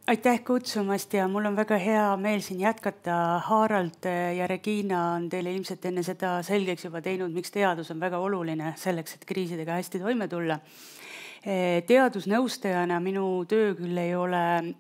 Aitäh kutsumast ja mul on väga hea meel siin jätkata. Harald ja Regina on teile ilmselt enne seda selgeks juba teinud, miks teadus on väga oluline selleks, et kriisidega hästi toime tulla. Teadusnõustajana minu töö küll ei ole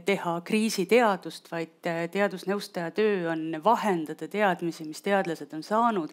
teha kriisiteadust, vaid teadusnõustaja töö on vahendada teadmisi, mis teadlased on saanud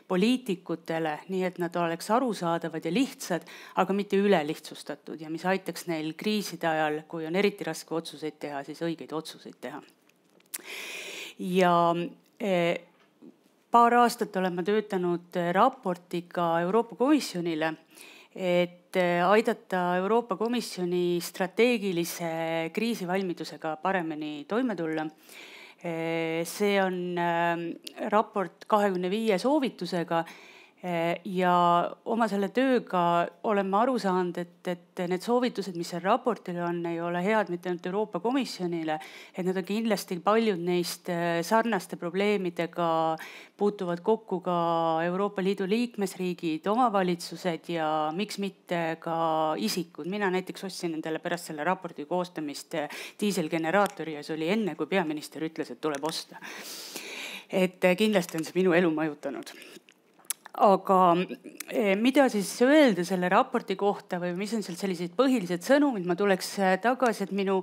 poliitikutele, nii et nad oleks arusaadavad ja lihtsad, aga mitte ülelihtsustatud ja mis aitaks neil kriiside ajal, kui on eriti raske otsuseid teha, siis õigeid otsuseid teha. Ja paar aastat olen ma töötanud raportiga Euroopa Komisjonile, et aidata Euroopa Komisjoni strateegilise kriisivalmidusega paremini toime tulla. See on raport 25 soovitusega ja oma selle tööga oleme aru saanud, et need soovitused, mis seal raportil on, ei ole head mitte ainult Euroopa Komisjonile, et need on kindlasti paljud neist sarnaste probleemidega puutuvad kokku ka Euroopa Liidu liikmesriigid, omavalitsused ja miks mitte ka isikud. Mina näiteks ostsin endale pärast selle raporti koostamist diiselgeneraatori ja see oli enne, kui peaminister ütles, et tuleb osta. Et kindlasti on see minu elu mõjutanud. Aga mida siis öelda selle raporti kohta või mis on seal sellised põhilised sõnumid, ma tuleks tagasi, et minu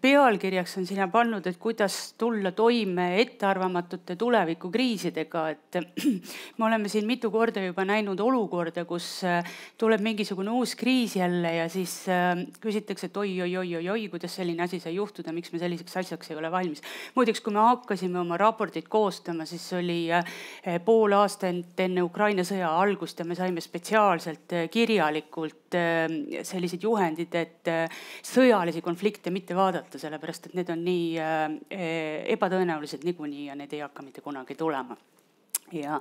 pealkirjaks on sinna pannud, et kuidas tulla toime ettearvamatute tulevikukriisidega. Et me oleme siin mitu korda juba näinud olukorda, kus tuleb mingisugune uus kriis jälle ja siis küsitakse, et oi, kuidas selline asi sai juhtuda, miks me selliseks asjaks ei ole valmis. Muideks, kui me hakkasime oma raportit koostama, siis oli pool aastat enne Ukraina sõja algust ja me saime spetsiaalselt kirjalikult sellised juhendid, et sõjalisi konflikte mitte vaadata, sellepärast et need on nii ebatõenäoliselt niikuinii ja need ei hakka mitte kunagi tulema. Ja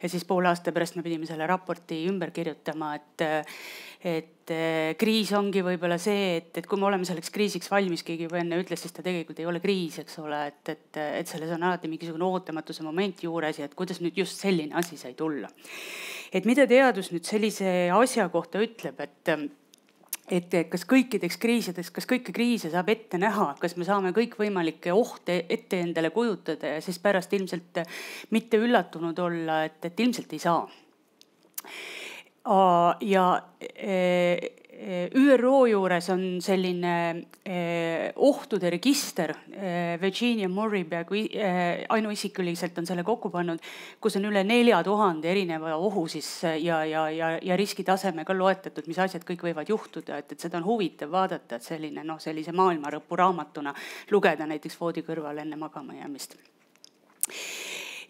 siis pool aasta pärast me pidime selle raporti ümber kirjutama, et kriis ongi võib-olla see, et kui me oleme selleks kriisiks valmis, keegi juba enne ütles, siis ta tegelikult ei ole kriis, eks ole, et selles on alati mingisugune ootamatuse moment juures ja et kuidas nüüd just selline asi sai tulla. Et mida teadus nüüd sellise asja kohta ütleb, et kas kõikideks kriisideks, kas kõiki kriise saab ette näha, kas me saame kõik võimalikke ohte ette endale kujutada ja siis pärast ilmselt mitte üllatunud olla, et ilmselt ei saa. Ja ÜRO juures on selline ohtude register, Virginia Morey peaaegu ainuisikuliselt on selle kokku pannud, kus on üle 4000 erineva ohu siis ja riskitasemega loetatud, mis asjad kõik võivad juhtuda, et seda on huvitav vaadata, et sellise maailmarõpu raamatuna lugeda näiteks voodi kõrval enne magama jäämist.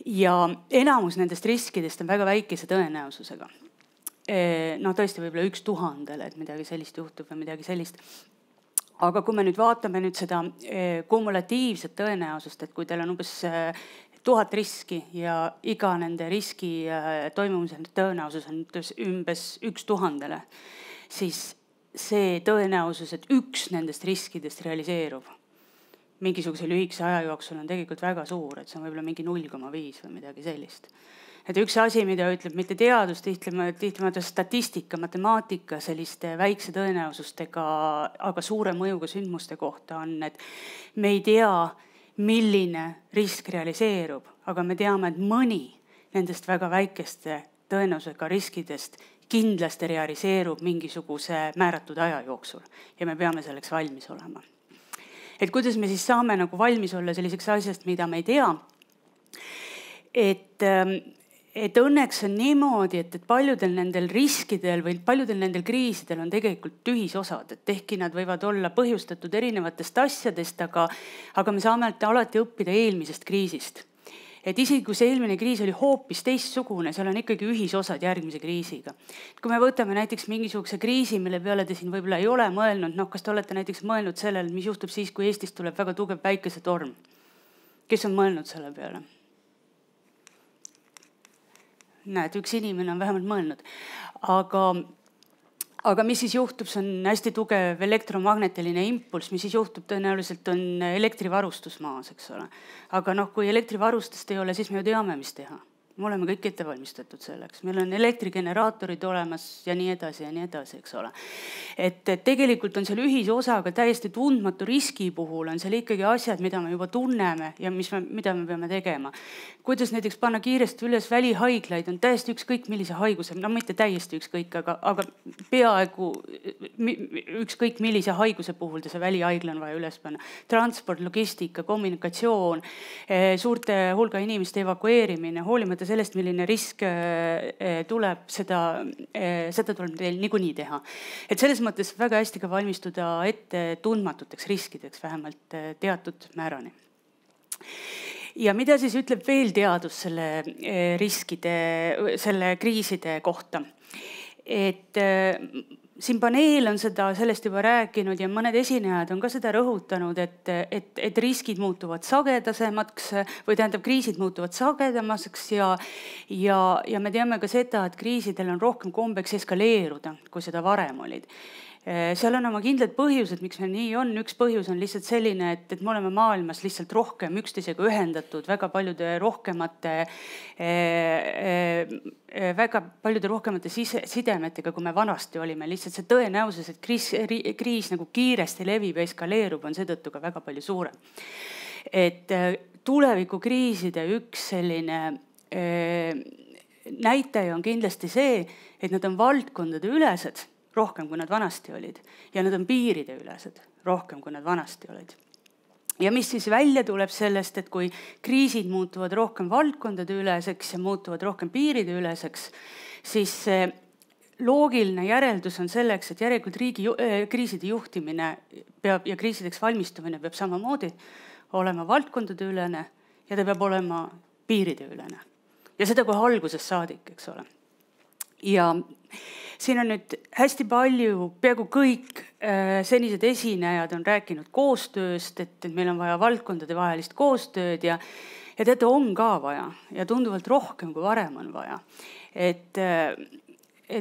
Ja enamus nendest riskidest on väga väikese tõenäosusega. Tõesti võib-olla 1000, et midagi sellist juhtub või midagi sellist. Aga kui me nüüd vaatame nüüd seda kumulatiivset tõenäosust, et kui teil on umbes 1000 riski ja iga nende riski toimumise tõenäosus on umbes 1000, siis see tõenäosus, et üks nendest riskidest realiseerub mingisuguse lühikese aja jooksul on tegelikult väga suur, et see on võib-olla mingi 0,5 või midagi sellist. Et üks asi, mida ütleb mitte teadus, tihtimaata statistika, matemaatika selliste väikse tõenäosustega, aga suure mõjuga sündmuste kohta on, et me ei tea, milline risk realiseerub, aga me teame, et mõni nendest väga väikeste tõenäosusega riskidest kindlasti realiseerub mingisuguse määratud aja jooksul ja me peame selleks valmis olema. Et kuidas me siis saame nagu valmis olla selliseks asjast, mida me ei tea, et õnneks on niimoodi, et paljudel nendel riskidel või paljudel nendel kriisidel on tegelikult tühisosad, et ehkki nad võivad olla põhjustatud erinevatest asjadest, aga me saame alati õppida eelmisest kriisist. Et isegi kui see eelmine kriis oli hoopis teistsugune, seal on ikkagi ühisosad järgmise kriisiga. Kui me võtame näiteks mingisuguse kriisi, mille peale te siin võib-olla ei ole mõelnud, kas te olete näiteks mõelnud sellele, mis juhtub siis, kui Eestis tuleb väga tugev päikesetorm? Kes on mõelnud selle peale? Näed, üks inimene on vähemalt mõelnud. Aga mis siis juhtub, see on hästi tugev elektromagnetiline impulss, mis siis juhtub, tõenäoliselt on elektrivarustus maas, eks ole. Aga kui elektrivarustust ei ole, siis me ju teame, mis teha. me oleme kõik ette valmistatud selleks, meil on elektrigeneraatorid olemas ja nii edasi, eks ole. Et tegelikult on seal ühisosaga täiesti tundmatu riski puhul on seal ikkagi asjad, mida me juba tunneme ja mida me peame tegema. Kuidas näiteks panna kiiresti üles välihaiglaid, on täiesti ükskõik millise haiguse, no mitte täiesti ükskõik, aga peaaegu ükskõik millise haiguse puhul see välihaigla on vaja üles panna. Transport, logistika, kommunikatsioon, suurte hulga inimeste evakueerimine, hoolimata sellest, milline risk tuleb, seda tuleb teil niikuinii teha. Et selles mõttes väga hästi ka valmistuda ette tundmatuteks riskideks, vähemalt teatud määrani. Ja mida siis ütleb veel teadus selle kriiside kohta? Et siin paneel on sellest juba rääkinud ja mõned esinejad on ka seda rõhutanud, et riskid muutuvad sagedasemaks või tähendab, kriisid muutuvad sagedamaks ja me teame ka seda, et kriisidel on rohkem kombeks eskaleeruda, kui seda varem olid. Seal on oma kindlad põhjused, miks meil nii on. Üks põhjus on lihtsalt selline, et me oleme maailmas lihtsalt rohkem üksteisega ühendatud väga paljude rohkemate sidemetega, kui me vanasti olime. Lihtsalt see tõenäosus, et kriis nagu kiiresti levib ja eskaleerub, on seetõttu ka väga palju suurem. Et tulevikukriiside üks selline näitaja on kindlasti see, et nad on valdkondade ülesed rohkem, kui nad vanasti olid. Ja nad on piiride ülesed rohkem, kui nad vanasti olid. Ja mis siis välja tuleb sellest, et kui kriisid muutuvad rohkem valdkondade üleseks ja muutuvad rohkem piiride üleseks, siis loogiline järeldus on selleks, et järelikult kriiside juhtimine peab ja kriisideks valmistumine peab samamoodi olema valdkondade ülene ja ta peab olema piiride ülene. Ja seda kohe algusest saadik, eks ole. Ja siin on nüüd hästi palju, peaaegu kõik senised esinejad on rääkinud koostööst, et meil on vaja valdkondade vahelist koostööd ja teate, on ka vaja ja tunduvalt rohkem, kui varem on vaja. Et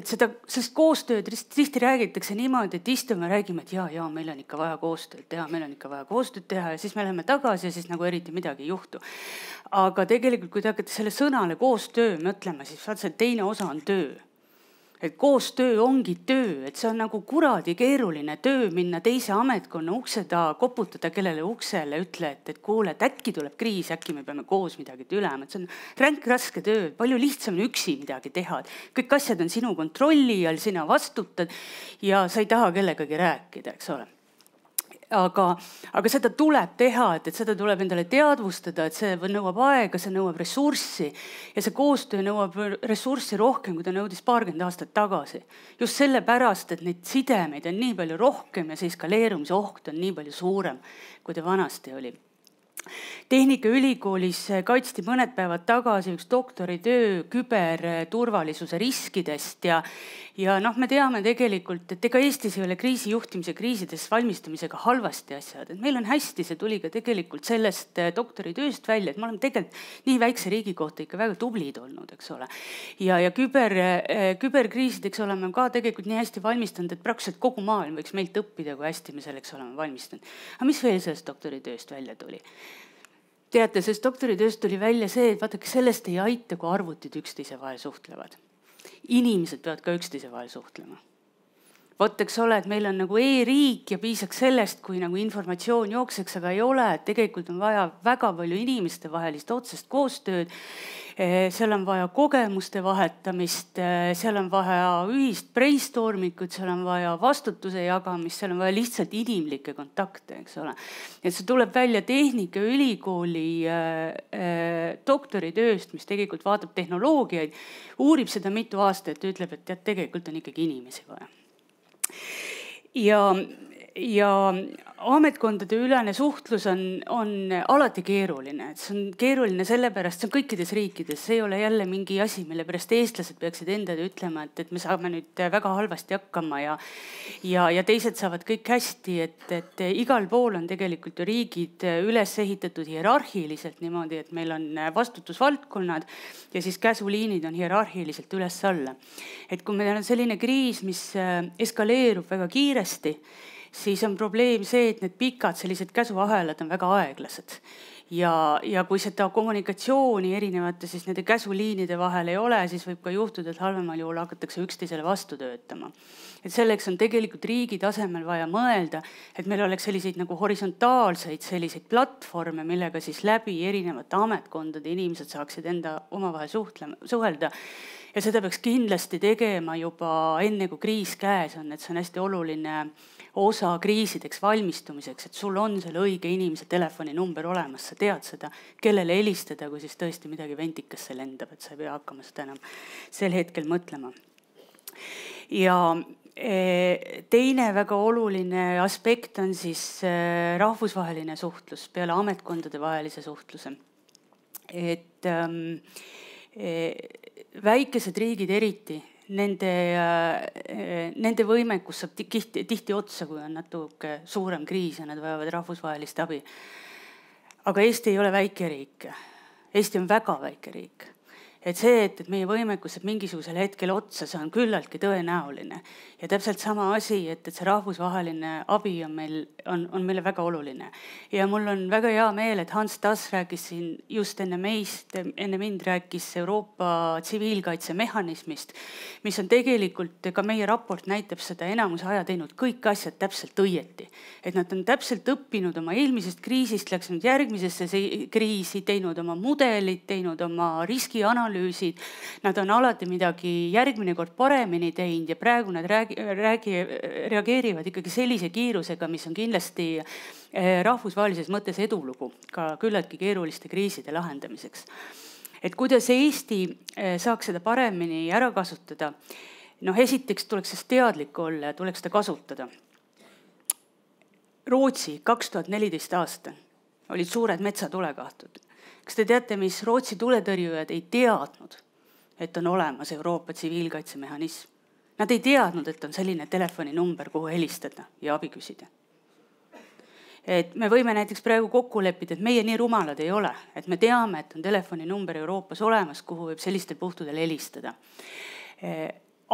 sellest koostööd tihti räägitakse niimoodi, et istume ja räägime, et jaa, meil on ikka vaja koostööd teha ja siis me läheme tagasi ja siis nagu eriti midagi ei juhtu. Aga tegelikult, kui te hakkate selle sõnale koostöö mõtlema, siis see teine osa on töö. Et koostöö ongi töö, et see on nagu kuradi keeruline töö minna teise ametkonna ukse taha, koputada kellele uksele, ütle, et kuule, et äkki tuleb kriis, äkki me peame koos midagi tulema. Et see on ränk raske töö, palju lihtsam üksi midagi teha. Kõik asjad on sinu kontrolli all, sina vastutad ja sa ei taha kellegagi rääkida, eks ole. Aga seda tuleb teha, et seda tuleb endale teadvustada, et see nõuab aega, see nõuab ressurssi ja see koostöö nõuab ressurssi rohkem, kui ta nõudis 20 aastat tagasi. Just sellepärast, et neid sidemeid on nii palju rohkem ja see eskaleerumise oht on nii palju suurem, kui ta vanasti oli. Tehnikaülikoolis kaitsti mõned päevad tagasi üks doktoritöö küberturvalisuse riskidest ja me teame tegelikult, et ega Eestis ei ole kriisijuhtimise kriisides valmistumisega halvasti asjad. Et meil on hästi, see tuli ka tegelikult sellest doktoritööst välja, et me oleme tegelikult nii väikse riigi kohta ikka väga tublid olnud, eks ole. Ja küberkriisideks oleme ka tegelikult nii hästi valmistanud, et praktiliselt kogu maailm võiks meilt õppida, kui hästi me selleks oleme valmistanud. Aga mis veel sellest doktoritööst välja tuli? Teate, sest doktoritööst tuli välja see, et vaadake, sellest ei aita, kui arvutid üksteise vahel suhtlevad. Inimesed peavad ka üksteise vahel suhtlema. Vot, eks ole, et meil on nagu e-riik ja piisaks sellest, kui nagu informatsioon jookseks, aga ei ole, et tegelikult on vaja väga palju inimeste vahelist otsest koostööd. Seal on vaja kogemuste vahetamist, seal on vaja ühist brainstormikut, seal on vaja vastutuse jagamist, seal on vaja lihtsalt inimlikke kontakte, eks ole. Et see tuleb välja Tehnikaülikooli doktoritööst, mis tegelikult vaatab tehnoloogiaid, uurib seda mitu aastat ja ütleb, et tegelikult on ikkagi inimesi vaja. Ja ametkondade ülene suhtlus on alati keeruline. See on keeruline sellepärast, see on kõikides riikides. See ei ole jälle mingi asi, mille pärast eestlased peaksid endale ütlema, et me saame nüüd väga halvasti hakkama ja teised saavad kõik hästi. Et igal pool on tegelikult ju riigid üles ehitatud hierarhiliselt niimoodi, et meil on vastutusvaldkonnad ja siis käsuliinid on hierarhiliselt üles alla. Et kui meil on selline kriis, mis eskaleerub väga kiiresti, siis on probleem see, et need pikad sellised käsuahelad on väga aeglased. ja kui seda kommunikatsiooni erinevate siis nende käsuliinide vahel ei ole, siis võib ka juhtuda, et halvemal juhul hakatakse üksteisele vastu töötama. Et selleks on tegelikult riigi tasemel vaja mõelda, et meil oleks selliseid nagu horisontaalseid selliseid platvorme, millega siis läbi erinevate ametkondade inimesed saaksid enda omavahel suhelda. Ja seda peaks kindlasti tegema juba enne, kui kriis käes on, et see on hästi oluline osa kriisideks valmistumiseks, et sul on selle õige inimese telefoninumber olemas, sa tead seda, kellele helistada, kui siis tõesti midagi ventikasse lendab, et sa ei pea hakkama seda enam sel hetkel mõtlema. Ja teine väga oluline aspekt on siis rahvusvaheline suhtlus peale ametkondade vahelise suhtluse. Et väikesed riigid eriti, nende võimekus saab tihti otsa, kui on natuke suurem kriis ja nad vajavad rahvusvahelist abi. Aga Eesti ei ole väike riik. Eesti on väga väike riik. Et see, et meie võimekus saab mingisugusel hetkel otsa, see on küllaltki tõenäoline. Ja täpselt sama asi, et see rahvusvaheline abi on meile väga oluline. Ja mul on väga hea meel, et Hans Tass rääkis siin just enne mind rääkis Euroopa tsiviilkaitsemehhanismist, mis on tegelikult, ka meie raport näitab seda enamus aja teinud kõik asjad täpselt õieti. Et nad on täpselt õppinud oma eelmisest kriisist, läks nüüd järgmisesse kriisi, teinud oma mudelid, teinud oma riskianalüüsid. Nad on alati midagi järgmine kord paremini teinud ja praegu nad reageerivad ikkagi sellise kiirusega, mis on kindlasti rahvusvahelises mõttes edulugu ka küllaltki keeruliste kriiside lahendamiseks. Et kuidas Eesti saaks seda paremini ära kasutada? Esiteks tuleks sellest teadlik olla ja tuleks seda kasutada. Rootsi 2014 aasta olid suured metsatulekahtud. Kas te teate, mis Rootsi tuletõrjujad ei teadnud, et on olemas Euroopa tsiviilkaitsemehhanism? Nad ei teadnud, et on selline telefoninumber, kuhu helistada ja abi küsida. Et me võime näiteks praegu kokku leppida, et meie nii rumalad ei ole, et me teame, et on telefoninumber Euroopas olemas, kuhu võib sellistel puhtudel helistada.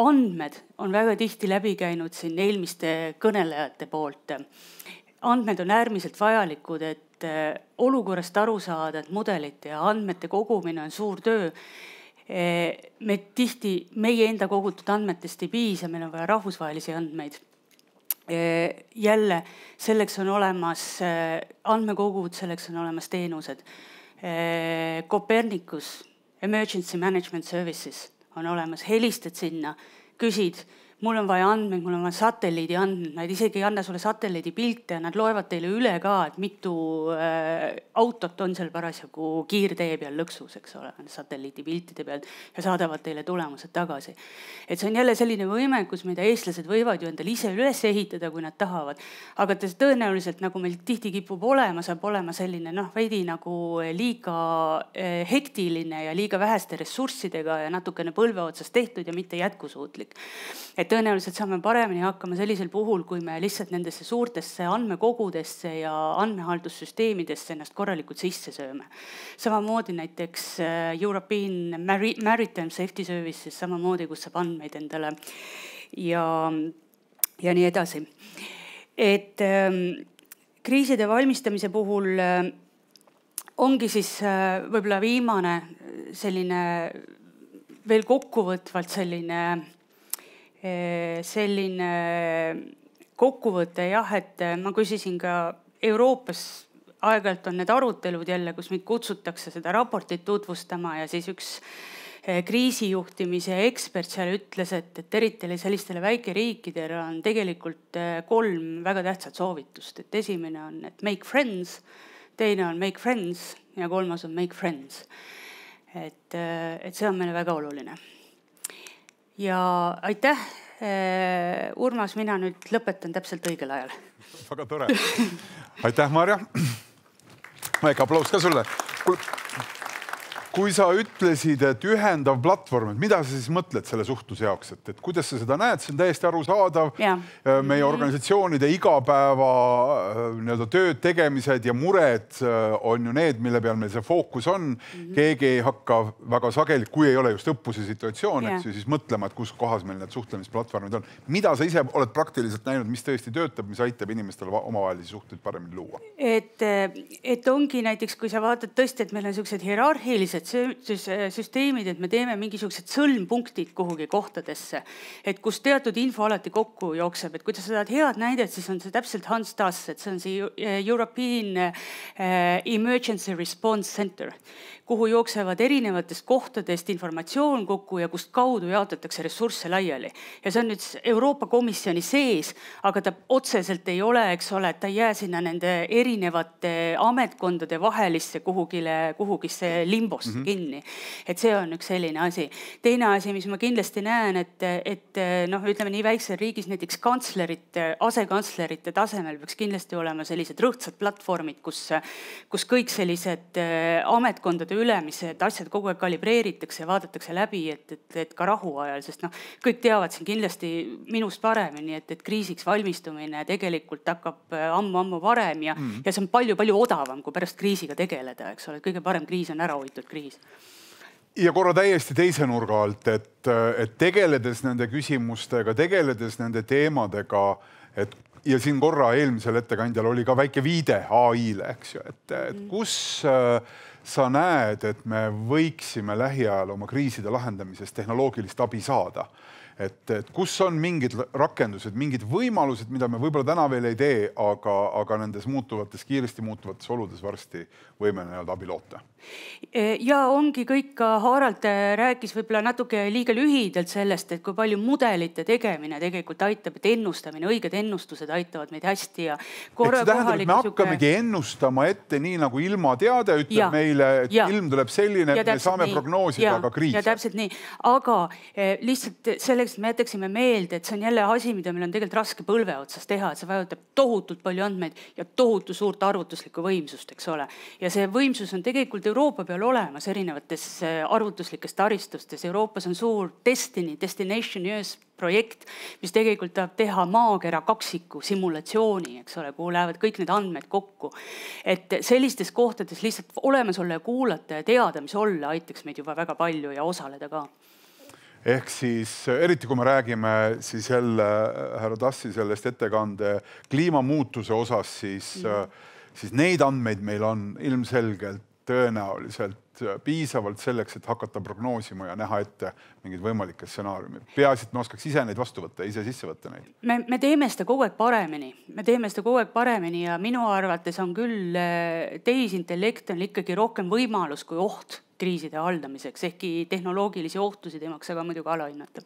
Andmed on väga tihti läbi käinud siin eelmiste kõnelejate poolt. Andmed on äärmiselt vajalikud, et olukorrast aru saada, et mudelite ja andmete kogumine on suur töö. Meie enda kogutud andmetest ei piisa, meil on vaja rahvusvahelisi andmeid. Jälle, selleks on olemas andmekogud, selleks on olemas teenused. Copernicus, Emergency Management Services on olemas, helistad sinna, küsid, mul on vaja andmeid, mul on vaja satelliidi andmeid, nad isegi ei anna sulle satelliidi pilte ja nad loevad teile üle ka, et mitu autot on seal parasjagu kiirtee peal lõksus, eks ole, satelliidi piltide peal ja saadavad teile tulemused tagasi. Et see on jälle selline võimekus, mida eestlased võivad ju endale ise üles ehitada, kui nad tahavad. Aga tõenäoliselt, nagu meil tihti kipub olema, saab olema selline veidi nagu liiga hektiline ja liiga väheste ressurssidega ja natukene põlve otsast tehtud ja mitte jätkusuutlik. Et tõenäoliselt saame paremini hakkama sellisel puhul, kui me lihtsalt nendesse suurtesse andmekogudesse ja andmehaldussüsteemidesse ennast korralikult sisse sööme. Samamoodi näiteks European Maritime Safety Services, samamoodi, kus saab andmeid endale ja nii edasi. Et kriiside valmistamise puhul ongi siis võib-olla viimane selline veel kokkuvõtvalt selline kokkuvõte, et ma küsisin ka Euroopas, aeg-ajalt on need arutelud jälle, kus meid kutsutakse seda raportit tutvustama ja siis üks kriisijuhtimise ekspert seal ütles, et eriti sellistele väikeriikidele on tegelikult 3 väga tähtsat soovitust. Et esimene on, et make friends, teine on make friends ja 3. on make friends. Et see on meile väga oluline. Ja aitäh, Urmas, mina nüüd lõpetan täpselt õigel ajal. Väga tore. Aitäh, Marja. Väike aplaus ka sulle. kui sa ütlesid, et ühendav platvorm, et mida sa siis mõtled selle suhtluse jaoks, et kuidas sa seda näed, see on täiesti arusaadav. Meie organisatsioonide igapäeva tööd tegemised ja mured on ju need, mille peal meil see fookus on. Keegi ei hakka väga sageli, kui ei ole just õppuse situatsioon, siis mõtlema, et kus kohas meil need suhtlemisplatvormid on. Mida sa ise oled praktiliselt näinud, mis tõesti töötab, mis aitab inimestel omavahelisi suhteid paremini luua? Et ongi näiteks, kui sa vaatad tõesti, et meil on sellised hierarhilised süsteemid, et me teeme mingisugused sõlmpunktid kuhugi kohtadesse, et kus teatud info alati kokku jookseb, et kui sa saad head näidet, siis on see täpselt Hans Tass, et see on see European Emergency Response Center, kuhu jooksevad erinevatest kohtadest informatsioon kokku ja kust kaudu jaotatakse ressursse laiali. Ja see on nüüd Euroopa Komisjoni sees, aga ta otseselt ei ole, eks ole, et ta ei jää sinna nende erinevate ametkondade vahelisse kuhugisse limbosse kinni. Et see on üks selline asi. Teine asi, mis ma kindlasti näen, et ütleme nii väiksel riigis näiteks asekantslerite tasemel peaks kindlasti olema sellised rõhtsad platvormid, kus kõik sellised ametkondade ülemised asjad kogu aeg kalibreeritakse ja vaadatakse läbi, et ka rahu ajal, sest kõik teavad siin kindlasti minust paremini, et kriisiks valmistumine tegelikult hakkab ammu varem ja see on palju odavam, kui pärast kriisiga tegeleda, eks ole. Kõige parem kriis on ära hoitud kriis. Ja korra täiesti teise nurga alt, et tegeledes nende küsimustega, tegeledes nende teemadega, ja siin korra eelmisel ettekandjal oli ka väike viide AI-le, eks ju, et kus sa näed, et me võiksime lähiajal oma kriiside lahendamisest tehnoloogilist abi saada. Et kus on mingid rakendused, mingid võimalused, mida me võib-olla täna veel ei tee, aga nendes kiiresti muutuvates oludes varsti võime abi loota. Ja ongi kõik ka Harald rääkis võib-olla natuke liiga lühidalt sellest, et kui palju mudelite tegemine tegelikult aitab, et ennustamine, õiged ennustused aitavad meid hästi. Ja see tähendab, et me hakkamegi ennustama ette nii nagu ilmateade ütleb meile, et ilm tuleb selline, et me saame prognoosida ka kriise. Ja täpselt nii. Aga lihtsalt selleks, et me jätaksime meelde, et see on jälle asi, mida meil on tegelikult raske põlve otsas teha, et see vajutab tohutult palju andmeid ja tohutu suurt arvutuslikku võimsust, eks ole. Ja see võimsus on tegelikult Euroopa peal olemas erinevates arvutuslikes taristustes. Euroopas on suur Destination Years projekt, mis tegelikult tahab teha maakera kaksiku simulatsiooni, eks ole, kuhu lähevad kõik need andmed kokku. Et sellistes kohtades lihtsalt olemas olla ja kuulata ja teada, mis olla, aitaks meid juba väga palju ja osaleda ka. Ehk siis, eriti kui me räägime siis jälle härra Tassi sellest ettekande kliimamuutuse osas, siis neid andmeid meil on ilmselgelt tõenäoliselt piisavalt selleks, et hakata prognoosima ja näha ette mingid võimalikke stsenaariumid. Peaasi, et me oskaks ise neid vastu võtta, ise sisse võtta neid. Me teeme seda kogu aeg paremini. Ja minu arvates on küll tehisintellekt on ikkagi rohkem võimalus kui oht kriiside haldamiseks, ehkki tehnoloogilisi ohtusid ei maksa ka muidugi alahinnata.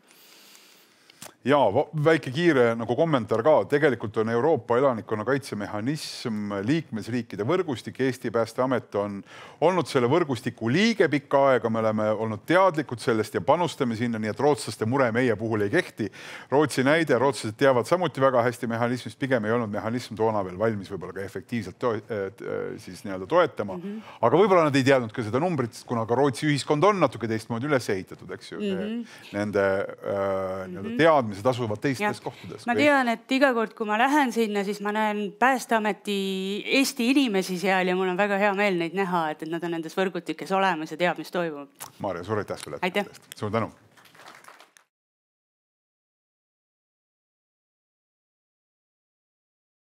Ja väike kiire nagu kommentaar ka. Tegelikult on Euroopa elanikkonna kaitsemehhanism liikmesriikide võrgustik. Eesti Päästeamet on olnud selle võrgustiku liige pikka aega. Me oleme olnud teadlikud sellest ja panustame sinna, nii et rootslaste mure meie puhul ei kehti. Rootsi näide, rootslased teavad samuti väga hästi mehhanismist, pigem ei olnud mehhanism toona veel valmis võib-olla ka efektiivselt toetama. Aga võib-olla nad ei teadnud ka seda numbrit, kuna ka Rootsi ühiskond on natuke teistmoodi üles ehitatud, eks ju. Nende teadmised asuvad teistes kohtades. Ma tean, et iga kord, kui ma lähen sinna, siis ma näen Päästeameti Eesti inimesi seal ja mul on väga hea meel neid näha, et nad on nendes võrgutikes olemas ja teab, mis toimub. Maarja, suur aitäh sulle. Aitäh. Suur tänu.